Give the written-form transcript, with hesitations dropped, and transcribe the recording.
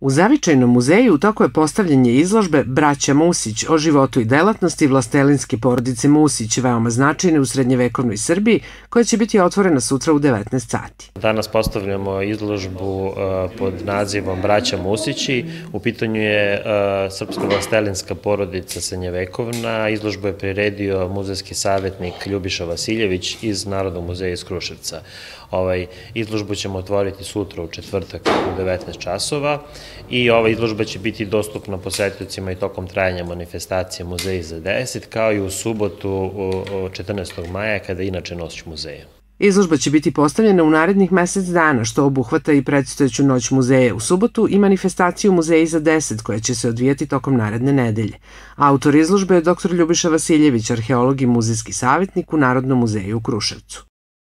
U Zavičajnom muzeju u toku je postavljanje izložbe Braća Musić o životu i delatnosti vlastelinske porodice Musić, veoma značajne u srednjevekovnoj Srbiji, koja će biti otvorena sutra u 19 sati. Danas postavljamo izložbu pod nazivom Braća Musići. U pitanju je srpska vlastelinska porodica srednjevekovna. Izložbu je priredio muzejski savjetnik Ljubiša Vasiljević iz Narodnog muzeja iz Kruševca. Izložbu ćemo otvoriti sutra u četvrtak u 19 časova i ova izložba će biti dostupna posetiocima i tokom trajanja manifestacije Muzeji za 10, kao i u subotu 14. maja, kada je inače Noć muzeja. Izložba će biti postavljena u narednih mesec dana, što obuhvata i predstojeću Noć muzeja u subotu i manifestaciju Muzeji za 10, koja će se odvijati tokom naredne nedelje. Autor izložbe je dr. Ljubiša Vasiljević, arheolog i muzejski savjetnik u Narodnom muzeju u Kruševcu.